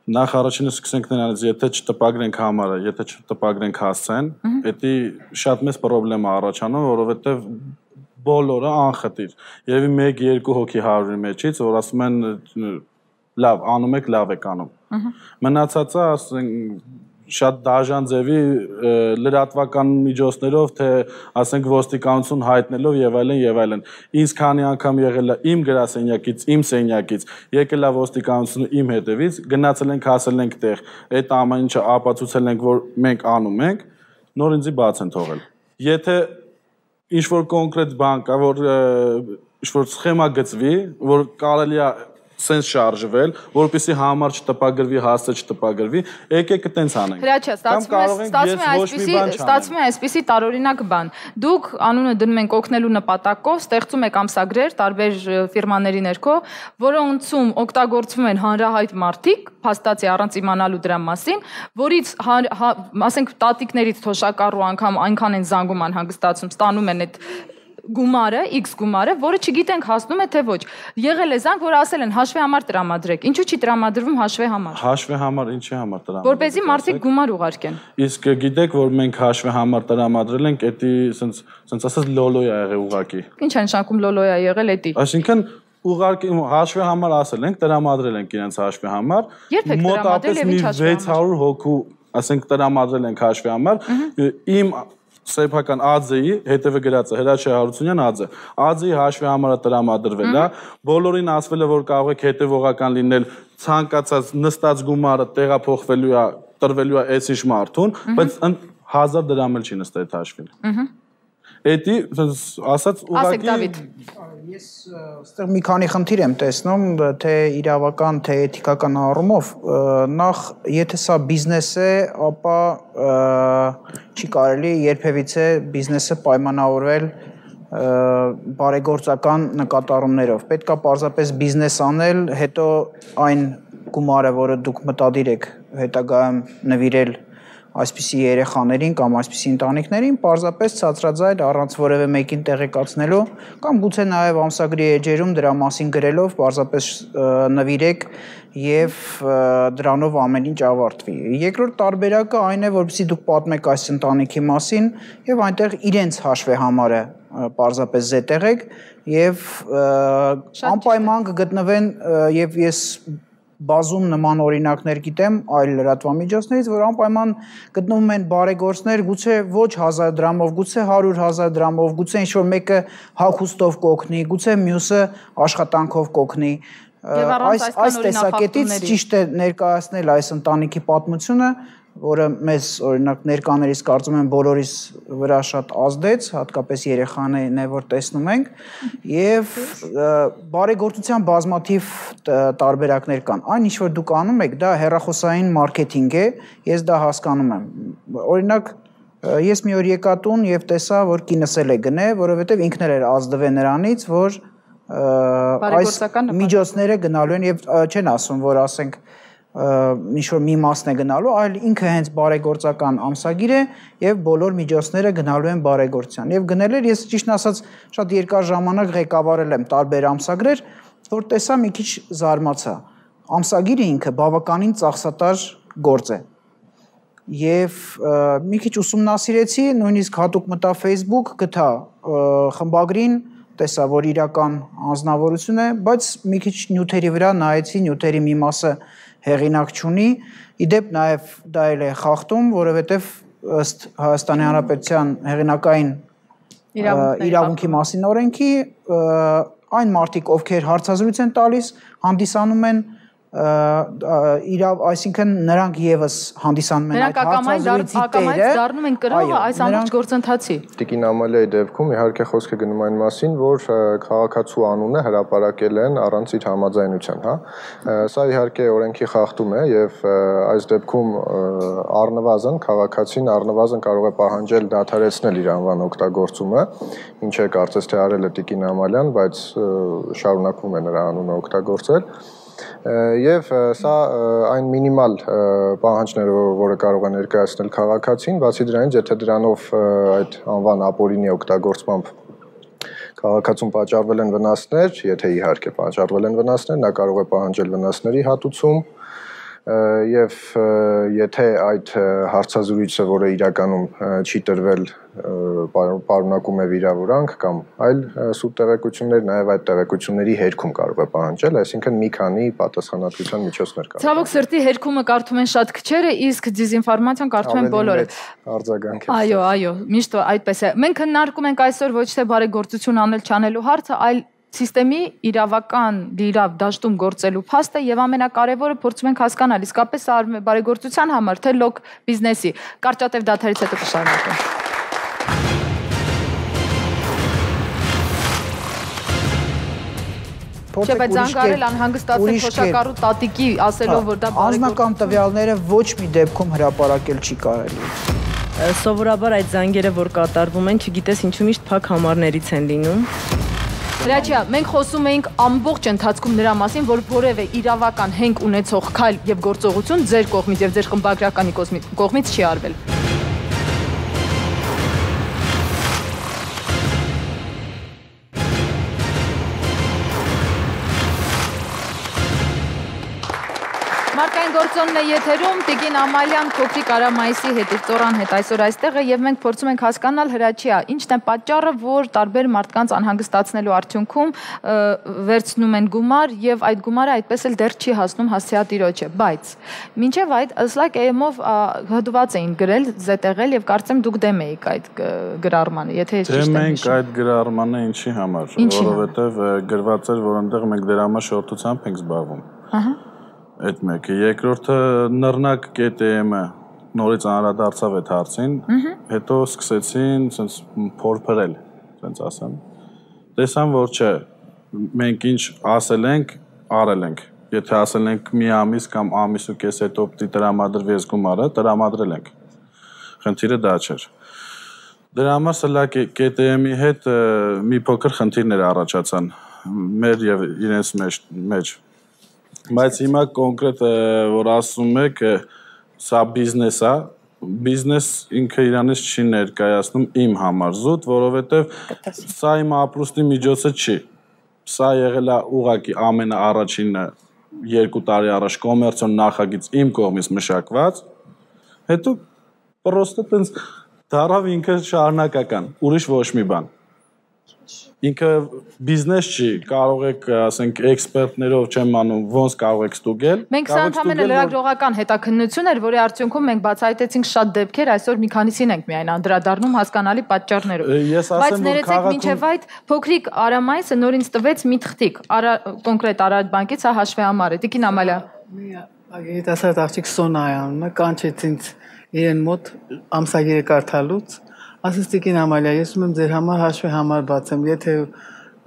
Նախ առաջինը սկսենք նրանից, եթե չտպագրենք համարը, եթե չտպագրենք հասցեն, դա շատ մեծ խնդրեմ է առաջանում, որովհետև բոլորը անխտիր։ Երևի մեկ երկու հոգի հարյուրի մեջից, որ ասում են լավ, անում եք, լավ եք անում։ Մնացածը, ասենք, շատ դաժան ձևի լրատվական միջոցներով, թե ասենք ոստիկանություն հայտնելով եւ այլն եւ այլն։ Ինձ քանի անգամ եղել է իմ գրասենյակից, իմ սենյակից, եկել է ոստիկանությունը իմ հետևից, գնացել ենք, հասել ենք տեղ, այդ ամեն ինչը ապացուցել ենք, որ մենք անում ենք, նոր ինձի բաց են թողել։ Եթե ինչ-որ կոնկրետ բան կա, որ ինչ-որ սխեմա գծվի, որ կարելի է սենց շարժվել, որպեսզի համար չտպագրվի, հասցե չտպագրվի, եկեք տենց անենք։ Հրաչա, ստացվում է այսպիսի տարօրինակ բան։ Դուք անունը դնում եք օգնելու նպատակով, ստեղծում եք ամսագրեր տարբեր ֆիրմաների ներքո, որոնցում օգտագործվում են հանրահայտ մարդիկ, փաստացի առանց իմանալու դրա մասին, որից ասենք տատիկներից թոշակառու անգամ այնքան են զանգում անհանգստացում, ստանում են այդ գումարը, X գումարը, որը չգիտենք հասնում է թե ոչ։ Եղել է զանգ, որ ասել են հաշվի համար տրամադրեք։ Ինչու՞ չի տրամադրվում հաշվի համար։ Հաշվի համար ինչի համար տրամադրեք։ Որպեսզի մարդիկ գումար ուղարկեն։ Իսկ գիտեք, որ մենք հաշվի համար տրամադրել ենք, դա սենց սենց ասած լոլոյա եղել ուղակի։ Ինչ է նշանակում լոլոյա եղել էդի։ Այսինքն ուղարկի հաշվի համար ասել ենք, տրամադրել ենք իրենց հաշվի համար։ Մոտավորապես մի վեց հարյուր հոգու, ասենք տրամադրել ենք հաշվի համար։ Իմ սեփական ԱՁ-ի հետևը գրած է Հրաչյա Հարությունյան ԱԶ։ ԱԶ-ի հաշվի համարը տրամադրվել է, բոլորին ասվել է, որ կարող եք հետևողական լինել, ցանկացած նստած գումարը տեղափոխվելու է, տրվելու է այս ինչ մարդուն, բայց հազար դրամ էլ չի նստել այդ հաշվին։ Էդի ասած ուղղակի ես այստեղ մի քանի խնդիր եմ տեսնում, թե իրավական, թե էթիկական առումով, նախ եթե սա բիզնես է, ապա չի կարելի երբևիցե բիզնեսը պայմանավորվել բարեգործական նկատառումներով։ Պետք է պարզապես բիզնես անել, հետո այն գումարը, որը դուք մտադիր եք հետագայում նվիրել այսպիսի երեխաներին կամ այսպիսի ընտանիքներին պարզապես ցածրաձայլ առանց որևէ մեկին տեղեկացնելու կամ գուցե նաև ամսագրի էջերում դրա մասին գրելով պարզապես նվիրեք եւ դրանով ամեն ինչ ավարտվի։ Երկրորդ տարբերակը այն է, որպեսզի դուք պատմեք այս ընտանիքի մասին եւ այնտեղ իրենց հաշվի համարը պարզապես զետեղեք եւ անպայման կգտնվեն եւ ես բազում նման օրինակներ գիտեմ այլ լրատվամիջոցներից, որ անպայման գտնվում են բարեգործներ, գուցե ոչ հազար դրամով, գուցե հարյուր հազար դրամով, գուցե ինչ-որ մեկը հագուստով կօգնի, գուցե մյուսը աշխատանքով կօգնի։ Այս այս տեսակետից ճիշտ է ներկայացնել այս ընտանիքի պատմությունը, որը մեզ օրինակ ներկաներից կարծում եմ բոլորիս վրա շատ ազդեց, հատկապես երեխաներին է որ տեսնում ենք, եւ բարեգործության բազմաթիվ տարբերակներ կան։ Այն ինչ որ դուք անում եք, դա հեռախոսային մարքեթինգ է, ես դա հասկանում եմ։ Օրինակ ես մի օր եկա տուն եւ տեսա, որ կինս էլ է գնե, որովհետեւ ինքն էլ էր ազդվել նրանից, որ այս միջոցները գնալու են եւ չեն ասում, որ ասենք ինչ-որ մի մասն է գնալու, այլ ինքը հենց բարեգործական ամսագիր է եւ բոլոր միջոցները գնալու են բարեգործության։ Եվ գնել էր, ես ճիշտն ասած շատ երկար ժամանակ ղեկավարել եմ տարբեր ամսագրեր, որ տեսա մի քիչ զարմացա։ Ամսագիրը ինքը բավականին ծախսատար գործ է։ Եվ մի քիչ ուսումնասիրեցի, նույնիսկ հատուկ մտա Facebook, գտա խմբագրին, տեսա, որ իրական անձնավորություն է, բայց մի քիչ նյութերի վրա նայեցի, նյութերի մի մասը հեղինակ չունի, իդեպ նաև դա էլ է խախտում, որովհետև ըստ Հայաստանի Հանրապետության հեղինակային իրավունքի մասին օրենքի այն մարդիկ, ովքեր հարցազրույց են տալիս, հանդիսանում են իրավ, այսինքն նրանք եւս հանդիսանում են այդ հարցազրույցի տերը, դառնում են կրողը այս ամբողջ գործընթացի։ Տիկին Ամալիայի դեպքում իհարկե խոսքը գնում այն մասին, որ քաղաքացու անունը հրապարակել են առանց իր համաձայնության, հա։ Սա իհարկե օրենքի խախտում է եւ այս դեպքում առնվազն քաղաքացին առնվազն կարող է պահանջել դադարեցնել իր անվան օգտագործումը, ինչը կարծես թե արել է Տիկին Ամալյան, բայց շարունակվում է նրա անունը օգտագործել։ Եվ սա այն մինիմալ պահանջները, որը կարող է ներկայացնել քաղաքացին, բացի դրանից, եթե դրանով այդ անվան ապօրինի օգտագործմամբ քաղաքացուն պատճառվել են վնասներ, եթե իհարկե պատճառվել են վնասներ, նա կարող է պահանջել վնասների հատուցում, եւ եթե այդ հարցազրույցը, որը իրականում չի տրվել, պարունակում է վիրավորանք կամ այլ սուտ տեղեկություններ, նաև այդ տեղեկությունների հերքում կարող է պահանջել, այսինքն մի քանի պատասխանատվության միջոցներ կան։ Ցավոք սրտի հերքումը կարդում են շատ քչերը, իսկ դիզինֆորմացիան կարդում են բոլորը։ Արձագանք է։ Այո, այո, միշտ այդպես է։ Մենք քննարկում ենք այսօր ոչ թե բարեգործություն անել չանելու հարցը, այլ Սիստեմի իրավական դիրավ դաշտում գործելու փաստը եւ ամենակարևորը փորձում ենք հասկանալ իսկապես սա արվում է բարեգործության համար թե լոկ բիզնեսի։ Կարճատև դադարից հետո կշարունակենք։ Չէ, բայց զանգարել անհանգստացել փոշակառու տատիկի ասելով, որ դա բարեգործություն։ Անձնական տվյալները ոչ մի դեպքում հրապարակել չի կարելի։ Սովորաբար այդ զանգերը, որ կատարվում են, չգիտես ինչու միշտ փակ համարներից են լինում։ Հրաչյա, մենք խոսում էինք ամբողջ ընթացքում նրա մասին, որ որևէ իրավական հենք ունեցող քայլ եւ գործողություն ձեր կողմից եւ ձեր խմբագրականի կողմից չի արվել։ Մարկային գործոնն է եթերում, Տիկին Ամալյան, Փոքրիկ Արամայիսի հետ, Ծորան հետ այսօր այստեղ է եւ մենք փորձում ենք հասկանալ Հրաչյա, ինչն է պատճառը, որ տարբեր մարդկանց անհանգստացնելու արդյունքում վերցնում են գումար եւ այդ գումարը այդպես էլ դեռ չի հասնում հասցեատիրոջը, բայց մինչեւ այդ ըսլակ էմով հդված էին գրել, զետեղել եւ կարծեմ դուք դեմ էիք այդ գրառմանը, եթե ես ճիշտ եմ հիշում։ Դեմ ենք այդ գրառմանը ինչի համար, որովհետեւ գրված էր, որ այնտեղ մենք դրամաշորթությամբ ենք զբաղվում։ Ահա Այդ մեկը, երկրորդը նռնակ կետը նորից անդրադարձավ այդ հարցին, հետո սկսեցին սենց փորփրել, սենց ասեմ։ Տեսան, որ չէ, մենք ինչ ասել ենք, արել ենք։ Եթե ասել ենք մի ամիս կամ ամիս ու կես հետո պիտի տրամադրվի այս գումարը, տրամադրել ենք։ Խնդիրը դա չէր։ Դրա համար սլա կետը-ի հետ մի փոքր խնդիրներ առաջացան մեր եւ իրենց մեջ։ Բայց հիմա կոնկրետ որ ասում եք սա բիզնես է, բիզնես ինքը իրանից չի ներկայացնում իմ համար զուտ, որովհետև սա իմ ապրուստի միջոցը չի։ Սա եղել է ուղղակի ամենաառաջինը երկու տարի առաջ կոմերցիոն նախագիծ իմ կողմից մշակված, հետո պրոստը տենց դարավ ինքը շարունակական, ուրիշ ոչ մի բան։ ինքը բիզնես չի, կարող եք, ասենք, էքսպերտներով չեմ անում, ոնց կարող եք ստուգել։ Մենք սա ընդհանրապես լրագրողական հետաքննություն էր, որի արդյունքում մենք բացահայտեցինք շատ դեպքեր, այսօր մի քանիսին ենք միայն անդրադառնում հասկանալի պատճառներով։ Բայց ներեցեք մինչև այդ փոքրիկ Արամայիսը նոր ինձ տվեց մի թղթիկ, կոնկրետ Արարատ բանկից, հա հաշվի համար է։ Տիկին Ամալիա։ Երիտասարդ աղջիկ Սոնայա անունը կանչեց ինձ իրեն մոտ ամսագիրը կարդալուց, ասեց Տիկին Ամալիա, ես ուզում եմ ձեր համար հաշվի համար բացեմ, եթե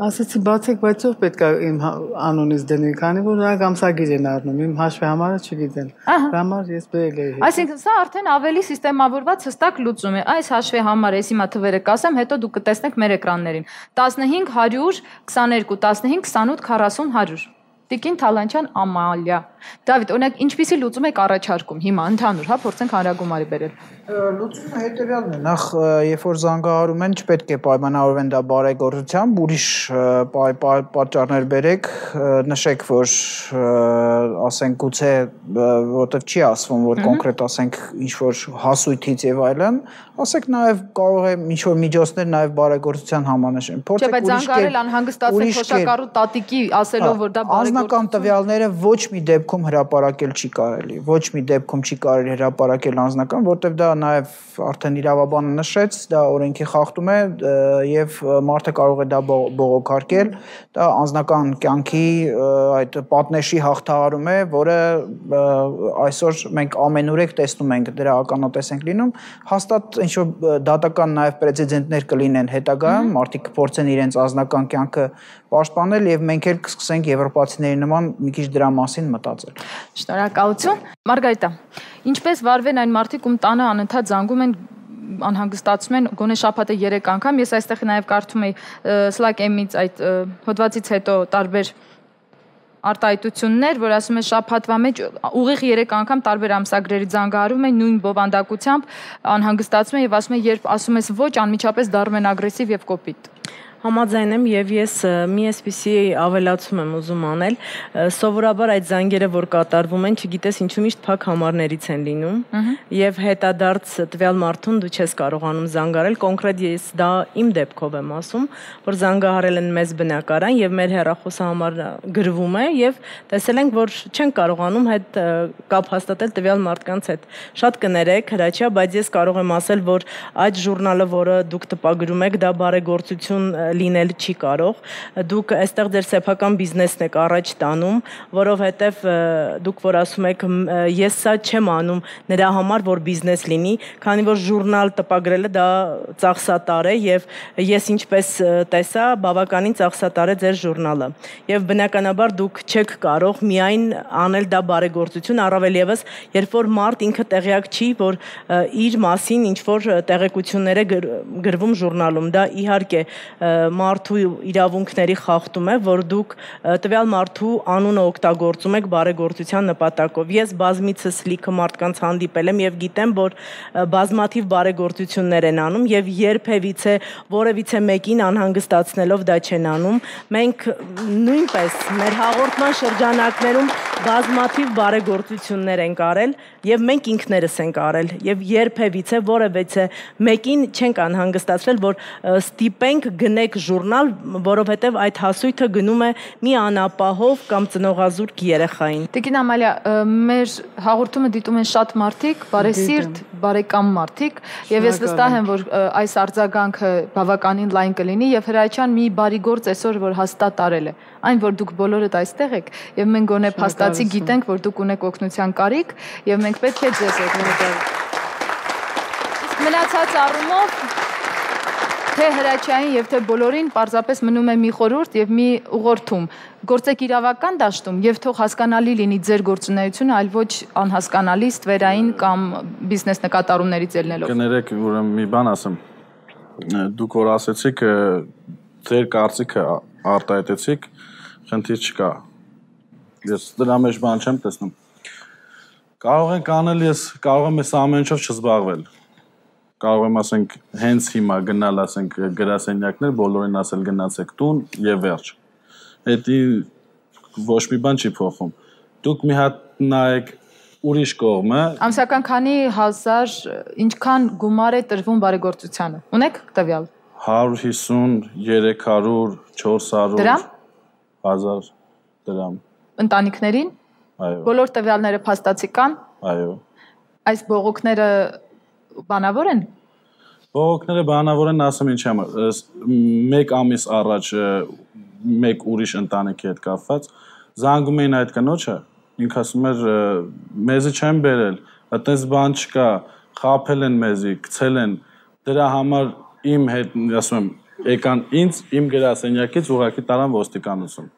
ասեցի բացեք, բայց ով պետք է իմ անունից դնի, քանի որ նրանք ամսագիր են առնում, իմ հաշվի համարը չգիտեն։ Դրա համար ես բերել էի։ Այսինքն սա արդեն ավելի սիստեմավորված հստակ լուծում է։ Այս հաշվի համարը, ես հիմա թվերը կասեմ, հետո դուք կտեսնեք մեր էկրաններին։ տասնհինգ հարյուր քսաներկու, տասնհինգ քսանութ քառասուն հարյուր։ Տիկին Թալանչյան Ամալիա։ Դավիթ, օրինակ, ինչպիսի լուծում եք առաջարկում հիմա ընդհանուր, հա, փորձենք հանրագումարի բերել։ Լուծումը հետևյալն է, նախ երբ որ զանգահարում են, չպետք է պայմանավորվեն դա բարեգործությամբ, ուրիշ պատճառներ բերեք, նշեք, որ ասենք գուցե որտեղ չի ասվում, որ կոնկրետ ասենք ինչ որ հասույթից եւ այլն, ասեք նաեւ կարող է ինչ որ միջոցներ նաեւ բարեգործության համանշեն։ Փորձեք ուրիշ զանգարել անհանգստացնել փոշակառու տատիկի ասելով, որ դա բարեգործություն։ Անձնական տվյալները ոչ մի դեպքում հրապարակել չի կարելի, ոչ մի դեպքում չի կարելի հրապարակել անձնական, որտեղ դա նաև արդեն իրավաբանը նշեց, դա օրենքի խախտում է եւ մարդը կարող է դա բողոքարկել, դա անձնական կյանքի այդ պատնեշի հաղթահարում է, որը այսօր մենք ամենուրեք տեսնում ենք, դրա ականատես ենք լինում, հաստատ ինչ որ դատական նաև պրեցեդենտներ կլինեն հետագայում, մարդիկ կփորձեն իրենց անձնական կյանքը պաշտպանել եւ մենք էլ կսկսենք եվրոպացիների նման մի քիչ դրա մասին մտածել։ Շնորհակալություն։ Մարգարիտա, ինչպես վարվեն այն մարդիկ, ում տանը անընդհատ զանգում են, անհանգստացում են գոնե շաբաթը երեք անգամ, ես այստեղ նաև կարդում էի Slack M-ից այդ հոդվածից հետո տարբեր արտահայտություններ, որ ասում է շաբաթվա մեջ ուղիղ երեք անգամ տարբեր ամսագրերի զանգահարում են նույն բովանդակությամբ, անհանգստացում են եւ ասում են, երբ ասում ես ոչ, անմիջապես դառնում են ագրեսիվ եւ կոպիտ։ Համաձայն եմ եւ ես մի էսպիսի ավելացում եմ ուզում անել, սովորաբար այդ զանգերը, որ կատարվում են, չգիտես ինչու միշտ փակ համարներից են լինում եւ հետադարձ տվյալ մարդուն դու չես կարողանում զանգարել, կոնկրետ ես դա իմ դեպքով եմ ասում, որ զանգահարել են մեզ բնակարան եւ մեր հեռախոսահամարը գրվում է եւ տեսել ենք, որ չեն կարողանում հետ կապ հաստատել տվյալ մարդկանց հետ։ Շատ կներեք, հրաչյա, բայց ես կարող եմ ասել, որ այդ ժուրնալը, որը դուք տպագրում եք, դա բարեգործություն լինել չի կարող, դուք այստեղ ձեր սեփական բիզնեսն եք առաջ տանում, որովհետև դուք որ ասում եք ես սա չեմ անում նրա համար, որ բիզնես լինի, քանի որ ժուրնալ տպագրելը դա ծախսատար է եւ ես ինչպես տեսա, բավականին ծախսատար է ձեր ժուրնալը։ Եվ բնականաբար դուք չեք կարող միայն անել դա բարեգործություն, առավել եւս, երբ որ մարդ ինքը տեղյակ չի, որ իր մասին ինչ որ տեղեկություններ է գրվում ժուրնալում, դա իհարկե մարդու իրավունքների խախտում է, որ դուք տվյալ մարդու անունը օգտագործում եք բարեգործության նպատակով։ Ես բազմիցս լիքը մարդկանց հանդիպել եմ եւ գիտեմ, որ բազմաթիվ բարեգործություններ են անում եւ երբևիցե որևիցե մեկին անհանգստացնելով դա չեն անում։ Մենք նույնպես մեր հաղորդման շրջանակներում բազմաթիվ բարեգործություններ ենք արել եւ մենք ինքներս ենք արել եւ երբևիցե որևիցե մեկին չենք անհանգստացրել, որ ստիպենք գնեք ժուրնալ, որովհետև այդ հասույթը գնում է մի անապահով կամ ծնողազուրկ երեխային։ Տիկին Ամալիա, մեր հաղորդումը դիտում են շատ մարդիկ, բարեսիրտ, բարեկամ մարդիկ, եւ ես վստահ եմ, որ այս արձագանքը բավականին լայն կլինի եւ Հրաչյան մի բարի գործ այսօր որ հաստատ արել է։ Այն որ դուք բոլորդ այստեղ եք եւ մենք գոնե փաստացի գիտենք, որ դուք ունեք օգնության կարիք եւ մենք պետք է ձեզ օգնենք։ Մնացած առումով թե Հրաչյային եւ թե բոլորին պարզապես մնում է մի խորհուրդ եւ մի ուղղորդում։ Գործեք իրավական դաշտում եւ թող հասկանալի լինի ձեր գործունեությունը, այլ ոչ անհասկանալի ստվերային կամ բիզնես նկատառումներից ելնելով։ Կներեք, ուրեմն մի բան ասեմ։ Դուք որ ասեցիք, ձեր կարծիքը արտահայտեցիք, խնդիր չկա։ Ես դրա մեջ բան չեմ տեսնում։ Կարող ենք անել, ես կարող եմ այս ամեն ինչով չզբաղվել։ Կարող եմ ասենք հենց հիմա գնալ ասենք գրասենյակներ, բոլորին ասել գնացեք տուն եւ վերջ։ Դա ոչ մի բան չի փոխում։ Դուք մի հատ նայեք ուրիշ կողմը։ Ամսական քանի հազար ինչքան գումար է տրվում բարեգործությանը։ Ունեք տվյալ։ հարյուր հիսուն, երեք հարյուր, չորս հարյուր Դրամ։ հազար դրամ։ Ընտանիքներին։ Այո։ Բոլոր տվյալները փաստացի կան։ Այո։ Այս բողոքները բանավոր են։ Բողոքները բանավոր են, ասեմ ինչի համար։ Մեկ ամիս առաջ մեկ ուրիշ ընտանիքի հետ կապված զանգում էին այդ կնոջը, ինքը ասում էր մեզի չեն բերել, այդպես բան չկա, խաբել են մեզի, գցել են, դրա համար իմ հետ, ասում եմ, եկան ինձ իմ գրասենյակից ուղղակի տարան ոստիկանություն։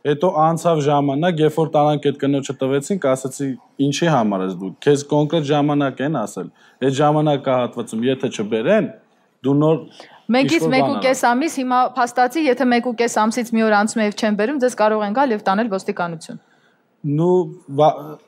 Հետո անցավ ժամանակ, երբ որ տարանք այդ կնոջը տվեցինք, ասացի ինչի համար ես դու, քեզ կոնկրետ ժամանակ են ասել, այդ ժամանակահատվածում եթե չբերեն, դու նոր Մեկից մեկ ու կես ամիս, հիմա փաստացի, եթե մեկ ու կես ամսից մի օր անցում է եւ չեն բերում, ձեզ կարող են գալ եւ տանել ոստիկանություն։ Նու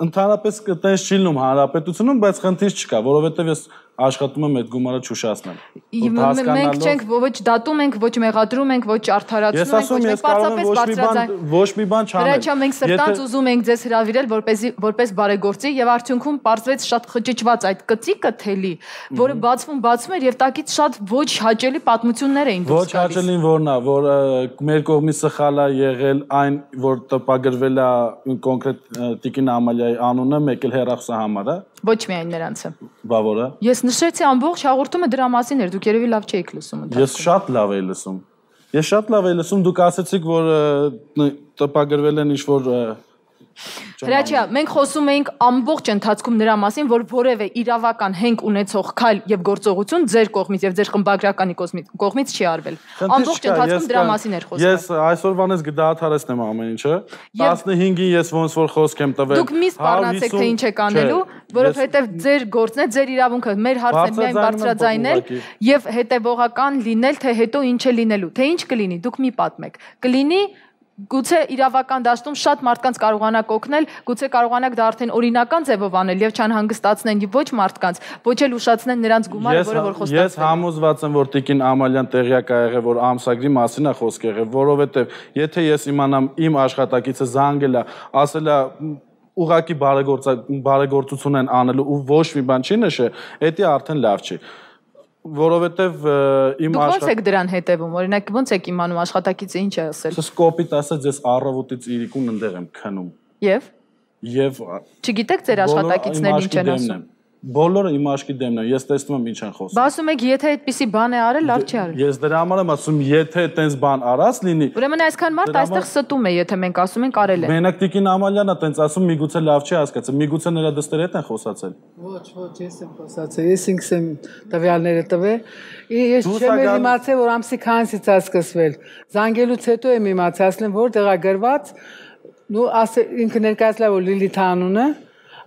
ընդհանրապես կտես չի լինում հանրապետությունում, բայց խնդիր չկա, որովհետեւ ես աշխատում եմ այդ գումարը չուշացնել։ Մենք չենք ոչ դատում ենք, ոչ մեղադրում ենք, ոչ արդարացնում ենք, ոչ պարզապես ոչ մի բան չանել։ Հրաչյա, մենք սրտանց ուզում ենք ձեզ հրավիրել որպեսզի որպես բարեգործի եւ արդյունքում պարզվեց շատ խճճված այդ կծիկը թելի, որը բացվում բացվում էր եւ տակից շատ ոչ հաճելի պատմություններ էին դուրս գալիս։ Ոչ հաճելին որն է, որ մեր կողմից սխալ է եղել այն, որ տպագրվել է կոնկրետ Տիկին Ամալիայի անունը, մեկ էլ հեռախոսահամարը։ Ոչ միայն նրանցը։ Բա որը։ Ես նշեցի ամբողջ հաղորդումը դրա մասին էր, դուք երևի լավ չէիք լսում ընդհանրապես։ Ես շատ լավ էի լսում։ Ես շատ լավ էի լսում, դուք ասացիք, որ տպագրվել են ինչ-որ Հրաչյա, մենք խոսում էինք ամբողջ ընթացքում նրա մասին, որ որևէ իրավական հենք ունեցող քայլ եւ գործողություն ձեր կողմից եւ ձեր խմբագրականի կողմից չի արվել։ Ամբողջ ընթացքում դրա մասին էր խոսքը։ Ես այսօրվանից կդադարեցնեմ ամեն ինչը։ տասնհինգին ես ոնց որ խոսք եմ տվել։ Դուք մի սպառնացեք թե ինչ եք անելու, որովհետեւ ձեր գործն է, ձեր իրավունքը, մեր հարցն է միայն բարձրաձայնել եւ հետեւողական լինել, թե հետո ինչ է լինելու, թե ինչ կլինի, դուք մի պատմեք։ Կլինի Գուցե իրավական դաշտում շատ մարդկանց կարողանաք օգնել, գուցե կարողանաք դա արդեն օրինական ձևով անել եւ չանհանգստացնեն ոչ մարդկանց, ոչ էլ ուշացնեն նրանց գումարը, որը որ խոստացվել է։ Ես համոզված եմ, որ Տիկին Ամալյան տեղյակ է եղել, որ ամսագրի մասին է խոսք եղել, որովհետեւ եթե ես իմանամ իմ աշխատակիցը զանգել է, ասել է ուղակի բարեգործություն են անելու ու ոչ մի բան չի նշել, դա արդեն լավ չի։ Որովհետև իմ Դուք ո՞նց եք դրան հետևում, օրինակ ո՞նց եք իմանում աշխատակիցը ինչ է ասել։ Ես կոպիտ ասած ես առավոտից իրիկուն ընդեղ եմ քնում։ Եվ Եվ չգիտեք ձեր աշխատակիցներն ինչ են ասում։ Բոլորը իմ աշկի դեմն են, ես տեսնում եմ ինչ են խոսում։ Բա ասում եք, եթե այդպիսի բան է արել, լավ չի արել։ Ես դրա համար եմ ասում, եթե այդպես բան արած լինի։ Ուրեմն այսքան մարդ այստեղ ստում է, եթե մենք ասում ենք արել է։ Մենակ Տիկին Ամալյանն է այդպես ասում, միգուցե լավ չի հասկացել, միգուցե նրա դստերը հետ են խոսացել։ Ոչ, ոչ, ես եմ խոսացել, ես ինքս եմ տվյալները տվել։ Ես չեմ իմացել, որ ամսի քանիսից է սկսվել։ Զանգելուց հետո եմ իմացել, ասել որ տեղա գրված, նու ասել ինքը ներկայացրել որ Լիլիթ անունը,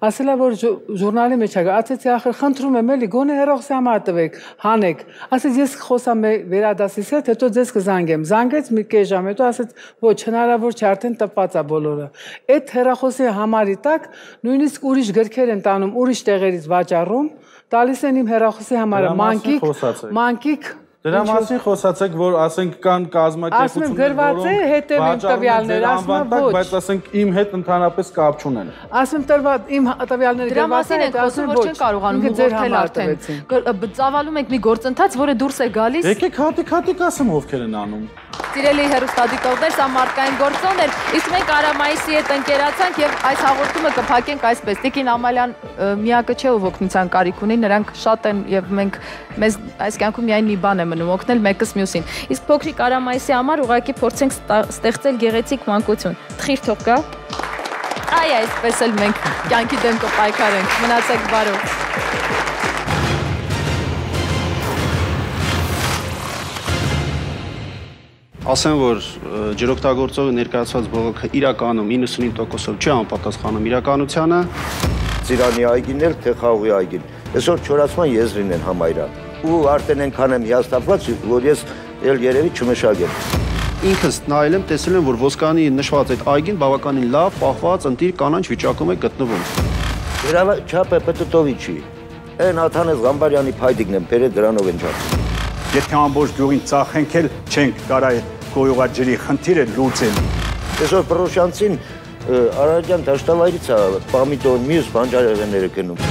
ասել որ ժուրնալի մեջ է, ասեցի ախր խնդրում եմ էլի գոնե հեռախոսի համար տվեք, հանեք։ Ասեց ես խոսամ վերադասից հետ, հետո ձեզ կզանգեմ։ Զանգեց մի կես ժամ, հետո ասեց ոչ հնարավոր չէ, արդեն տպված է բոլորը։ Այդ հեռախոսի համարի տակ նույնիսկ ուրիշ գրքեր են տանում, ուրիշ տեղերից վաճառում, տալիս են իմ հեռախոսի համարը, մանկիկ, մանկիկ Դրա մասին խոսացեք, որ ասենք կան կազմակերպություններ, որոնք տվյալներ, ասում եմ ոչ, բայց ասենք իմ հետ ընդհանրապես կապ չունեն։ Ասում եմ իմ տվյալները գրված են, ասում որ չեն կարողանում ուղղորդել արդեն։ Ծավալում եք մի գործընթաց, որը դուրս է գալիս։ Եկեք հատիկ-հատիկ ասեմ ովքեր են անում։ Սիրելի հեռուստադիտողներ, սա մարդկային գործոն էր, իսկ մենք Արամայիսի հետ ընկերացանք եւ այս հաղորդումը կփակենք այսպես։ Տիկին Ամալյան միակը չէ ով օգնության կարիք ունի, նրանք շատ են եւ մենք մեզ այս կյանքում միայն մի բան է մնում օգնել մեկս մյուսին։ Իսկ փոքրիկ Արամայիսի համար ուղղակի փորձենք ստեղծել գեղեցիկ մանկություն։ Թխիր թող գա։ Այ այսպես էլ մենք կյանքի դեմ կպայքարենք։ Մնացեք բարով։ Ասեմ, որ ջրօգտագործողը ներկայացված բողոքը իրականում իննսունհինգ տոկոսով չի համապատասխանում իրականությանը։ Ծիրանի այգին էլ թե խաղողի այգին։ Այսօր չորացման եզրին են համայրան։ Ու արդեն այնքան եմ հիասթափված, որ ես էլ երևի չմշակեմ։ Ինքս նայել եմ, տեսել եմ, որ Ոսկանի նշված այդ այգին բավականին լավ, պահված, ընտիր կանանչ վիճակում է գտնվում։ Դրա չափը պտտովի չի։ Այն Աթանես Ղամբարյանի փայտիկն եմ, բերել դրանով են չափ։ Եթե ամբողջ գյուղին ծախենք էլ չենք կարա այդ գոյուղաջրի խնդիրը լուծել։ Այսօր Պրոշյանցին Արարատյան դաշտավայրից է պամիդոր մյուս բանջարեղենները գնում։